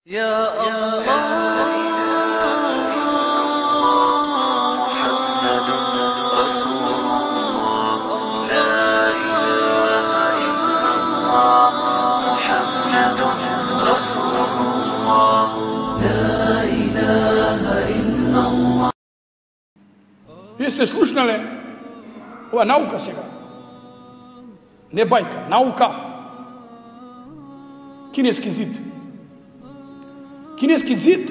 يا الله محمد رسول الله لا إله إلا الله محمد رسول الله لا إله إلا الله. Вие сте слушнале ова наука сега. Не бајка, наука. Кинески зид. Кинески зид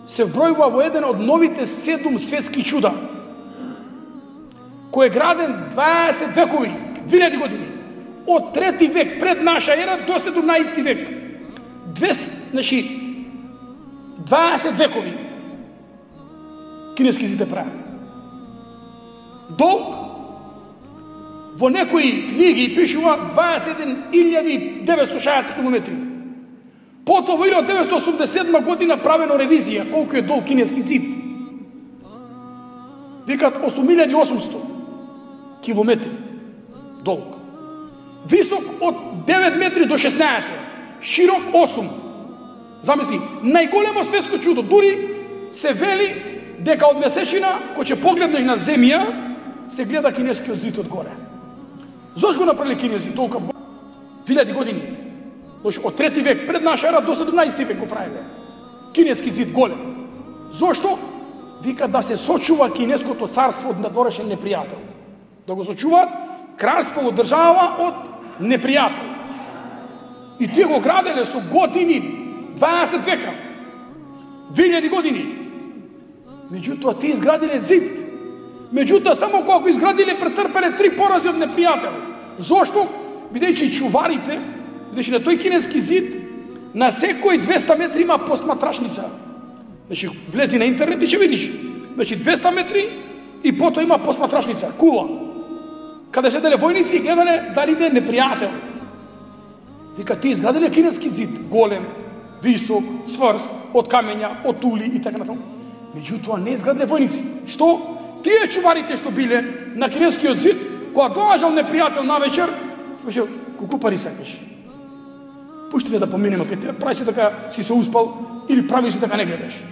се вбројува во еден од новите 7 светски чуда, кој е граден 20 векови, 2000 години, од 3 век пред наша ера до 17 век. 20 векови кинески зид е правен. Долг во некои книги пишува 21.960 км. Потоа во 1987 година правено ревизија колку е долг кинески зид. Викат 8.800 километри долг. Висок од 9 метри до 16, широк 8. Замисли, најголемо светско чудо. Дури се вели дека од месечина, кој ќе погледнеш на земја, се гледа кинескиот зид од горе. Зошто го направили кинези толку 2000 години? Од 3 век пред наша ера до 17 век го правиле. Кинески зид голем. Зошто? Вика да се сочува кинеското царство од надворешен непријател. Да го сочуваат кралство во држава од непријател. И тие го граделе со години, 20 века, 2000 години. Меѓутоа тие изградиле зид. Меѓутоа само кога го изградиле претрпеле 3 порази од непријател. Зошто? Бидејќи чуварите, значи на тој кинески зид на секој 200 метри има посматрашница. Значи влези на интернет и ќе видиш. Значи 200 метри и потоа има посматрашница, кула. Каде седеле војници и гледале дали иде непријател. Вика ти изградиле кинески зид, голем, висок, цврст, од камења, од тули и така натаму. Меѓутоа не изградиле војници. Што? Тие чуварите што биле на кинескиот зид, кога доаѓал непријател навечер, веше кукупари сакаш. Пушти да поминеме кај тебе, прави се дека си се успал или прави се дека не гледаш.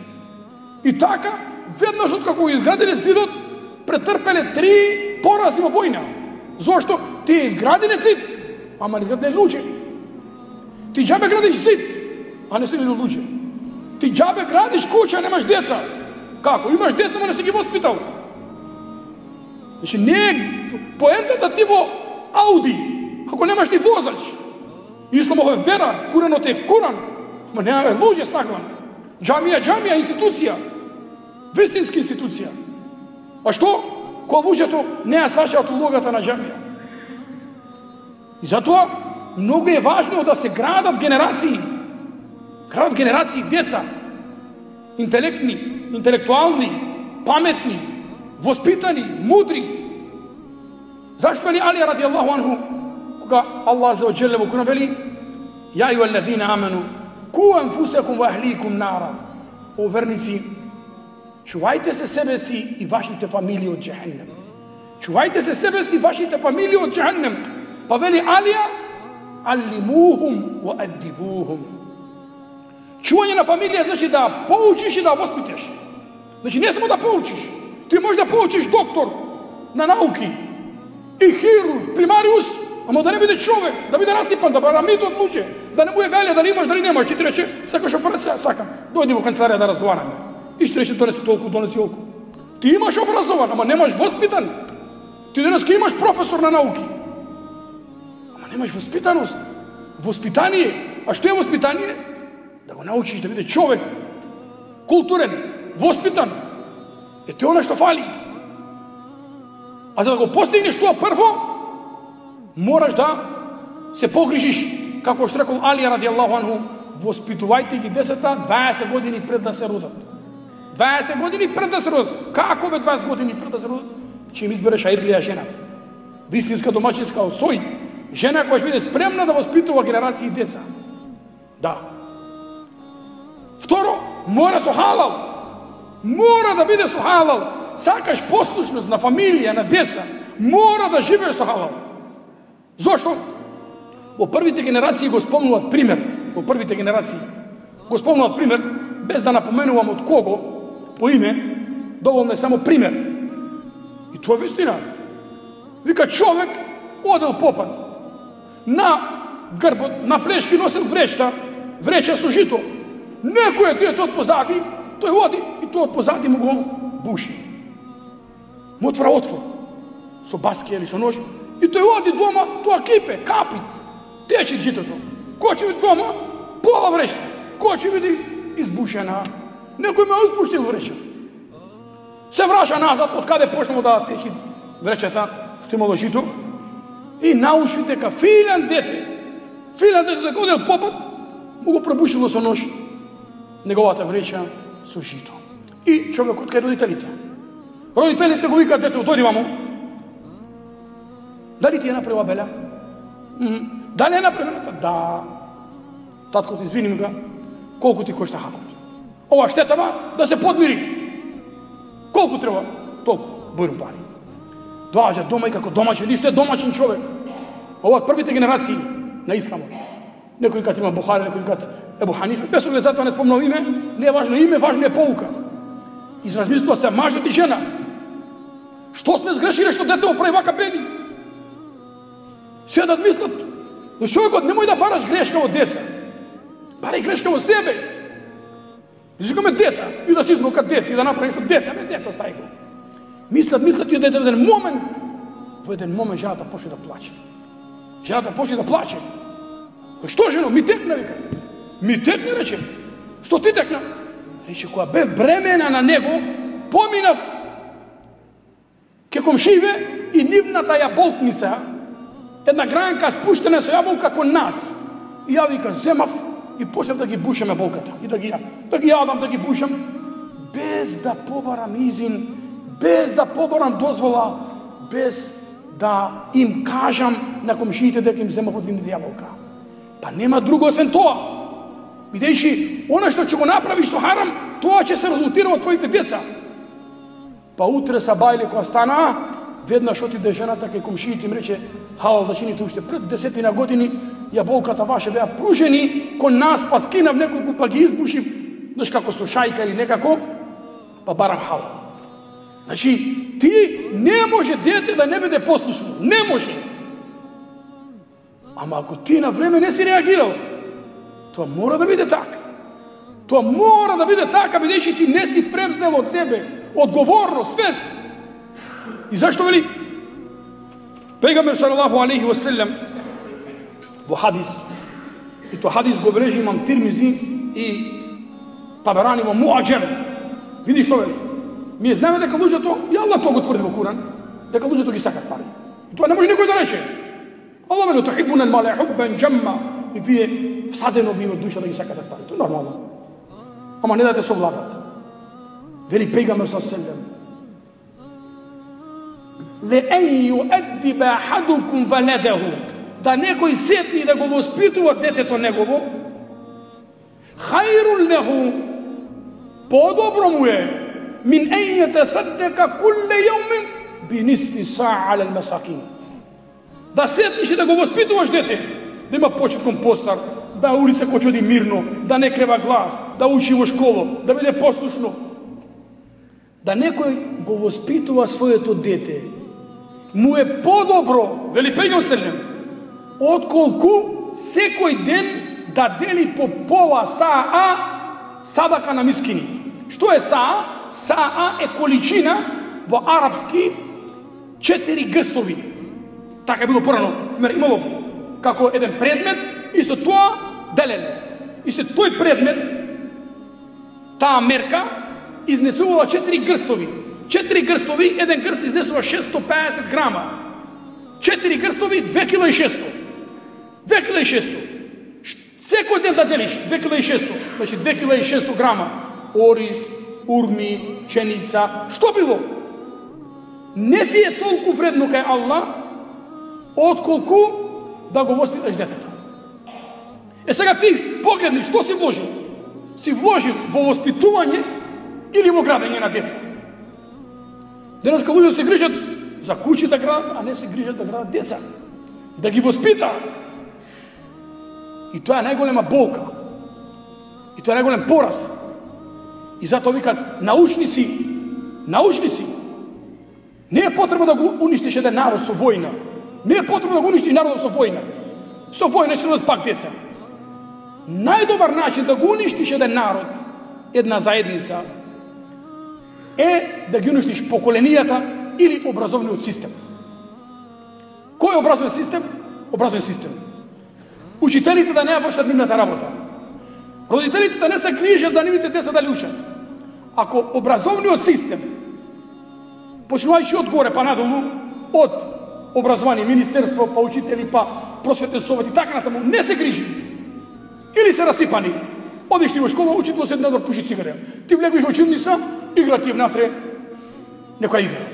И така, веднаш откако изградиле зидот, претрпеле 3 порази во војна. Зошто? Тие изградиле зид, ама не градиле луѓе. Ти џабе градиш зид, а не си ли луѓе. Ти џабе градиш куќа, немаш деца. Како? Имаш деца, но не си ги воспитал. Значи не е поентата ти во Ауди, ако немаш ни возач. Исламова е вера, Куранот е Куран, ма немаме луѓе саквам. Џамија, институција, вистинска институција. А што? Кога луѓето не ја сваќаат улогата на џамија. И затоа многу е важно да се градат генерации. Градат генерации деца, интелектни, интелектуални, паметни, воспитани, мудри. Зашто вели Али радијаллаху анху, кога Аллах за оџеле во Куран вели: "Ја ајуҳаллазина амену, ку анфусакум ва ахликум нара." О верници, чувајте се себе си и вашите фамилии од џехеннем. Чувајте се себе си и вашите фамилии од џехеннем. Па вели Алија: "Аллимухум ва аддибухум." Чување на фамилија значи да поучиш и да воспиташ. Значи не само да поучиш. Ти можеш да поучиш доктор на науки и хирург, примариус, ама да не биде човек, да биде насипан, да барамит од луѓе, да не му е гајле, да не имаш, дали немаш, ќе ти рече, сакаш операција, сакам, дојди во канцеларија да разговараме. И ще рече, донеси толку, донеси олку. Ти имаш образован, ама немаш воспитан. Ти денеска имаш професор на науки, ама немаш воспитаност. Воспитание. А што е воспитание? Да го научиш да биде човек, културен, воспитан. Е тоа она што фали. А за да го постигнеш тоа прво, мораш да се погрижиш, како што рекол Али радијаллаху анху, воспитувајте ги децата 20 години пред да се родат. 20 години пред да се родат. Како бе 20 години пред да се родат? Ќе им избереш ајрлија жена. Вистинска домачинска осој. Жена која ќе биде спремна да воспитува генерации деца. Да. Второ, мора со халал. Мора да биде со халал. Сакаш послушност на фамилија, на деца, мора да живееш со халал. Зошто? Во првите генерации го спомнуваат пример. Во првите генерации го спомнуват пример, без да напоменувам од кого, по име, доволно е само пример. И тоа е вистина. Вика, човек одел попат, на грбот, на плешки носил вреча со жито. Некој е дете од позади, тој оди и тој од позади му го буши. Му отвора со баски или со нож, и тој оди дома, тоа кипе, капит, тече житото. Кој ќе види дома, пола вреча. Кој ќе види избушена. Некој ме избуштил вреча. Се враќа назад, од каде почнало да течи вречата, што имало жито, и научи дека филен дете дека одел попат, му го пробушило со нож неговата вреча со жито. И човекот кај родителите. Родителите го викаат детето, дојди мамо. Дали ти е направила беля? Дали е направила? Да. Таткото, извиним га, колку ти кошта хакот? Ова штетава да се подмири. Колку треба? Толку. Бојрум пари. Доаѓа дома и како домаќин, видиш, е домаќин човек. Ова од првите генерации на исламот. Некој кат има Бухари, некој кат Ебу Ханифе, без оглед затоа не спомнал име, не е важно име, важно е поука. Изразмислува се мажот и жена. Што сме сгрешиле што детето прави вака бели? Седат мислат, но човекот немој да бараш грешка од деца. Барај грешка од себе. Жикаме деца и да се измокат дете и да направи нешто дете, дете остави го. Мислат и да во еден момент жената почне да плаче. Жената почне да плаче. Што жено, ми текна, вика. Ми текна, рече. Што ти текна? Рече, која бев бремена на него, поминав ке комшиве и нивната јаболкница, една гранка спуштена со јаболка кон нас. И ја, вика, земав и почнав да ги бушам јаболката. И да ги јадам, да ги бушам, без да побарам изин, без да побарам дозвола, без да им кажам на комшиите дека им земав од нивната јаболка. Па нема друго освен тоа. Бидејќи, она што ќе го направиш со харам, тоа ќе се резултира од твоите деца. Па утре сабајле кога стана, веднаш отиде жената кај комшиите им рече, халал да чините уште пред 10 години, јаболката ваше беа пружени кон нас, па скинав неколку, па ги избушив, знаеш како со шајка или некако, па барам халал. Значи, ти не може дете да не биде послушно. Не може. Ама ако ти на време не си реагирал, тоа мора да биде така. Тоа мора да биде така, бидејќи ти не си превзел од себе одговорност, свест. И зашто вели Пегамбер салалаху алейхи ва селем во хадис, и тоа хадис го бележи имам Тирмизи и Таберани во Муаџем. Види што вели? Ние знаеме дека луѓето, и Аллах тоа го тврди во Куран, дека луѓето ги сакат пари. И тоа не може никој да рече. Аллах вели тухиббуна ал-мала хуббан джамма, и вие всадено ви во душа да ги сакате пари. Тоа е нормално. Ама не да те совладат. Вели Пегамбер салалаху алейхи ва селем: لأن يؤدب أحدكم ولده, да некој седни да го воспитува детето негово, خير له, подобро му е, من أن يتصدق كل يوم بنصف ساعة على المساكين. Да седниш и да го воспитуваш дете, да има почет кон постар, да улица кој оди мирно, да не крева глас, да учи во школо, да биде послушно. Да некој го воспитува своето дете, му е подобро, вели Пегамбер селем, отколку секој ден да дели по пола саа садака на мискини. Што е саа? Саа е количина во арапски 4 грстови. Така е било порано. Имало како еден предмет и со тоа делене. И со тој предмет, таа мерка изнесувала 4 грстови. 4 грстови, еден грст изнесува 650 грама. 4 грстови, 2600. 2600. Секој ден да делиш 2600, значи 2600 грама ориз, урми, пченица, што било? Не ти е толку вредно кај Аллах, отколку да го воспиташ детето. Сега ти погледни што си вложил? Си вложил во воспитување или во градење на деца? Денес луѓето се грижат за куќи да градат, а не се грижат да градат деца. Да ги воспитаат. И тоа е најголема болка. И тоа е најголем пораз. И затоа викат научници, не е потребно да го уништиш еден народ со војна. Не е потребно да го уништиш народот со војна. Со војна ќе родат пак деца. Најдобар начин да го уништиш еден народ, една заедница, е да ги уништиш поколенијата или образовниот систем. Кој е образовен систем? Образовен систем. Учителите да не вршат нивната работа. Родителите да не се грижат за нивните деца да ли учат. Ако образовниот систем, почнувајќи од горе па надолу, од образование, министерство, па учители, па просветен совет и така натаму, не се грижи, или се расипани, одиш ти во школа, учител седи надвор, пуши цигаре. Ти влегуваш во училница, игра ти внатре некоја игра.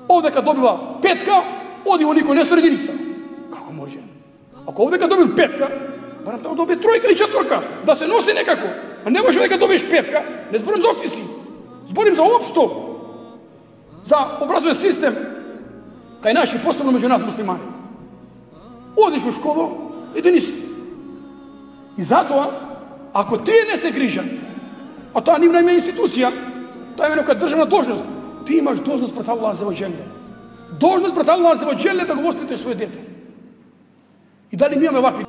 Овдека добива петка, оди во никој несто единица. Како може? Ако овдека добил петка, барам таму добие тројка или четворка, да се носи некако. А не може дека добиеш петка, не зборим за октиси. Зборим за општо, за образовен систем, кај наши, посебно меѓу нас муслимани. Одиш во школа, единица. И затоа, ако тие не се грижат, а тоа нивна има институција, тоа е некоја државна должност, ти имаш должност пред Аллах Аззаваџеле. Должност пред Аллах Аззаваџеле да го воспиташ своје дете. И дали ми имаме вакви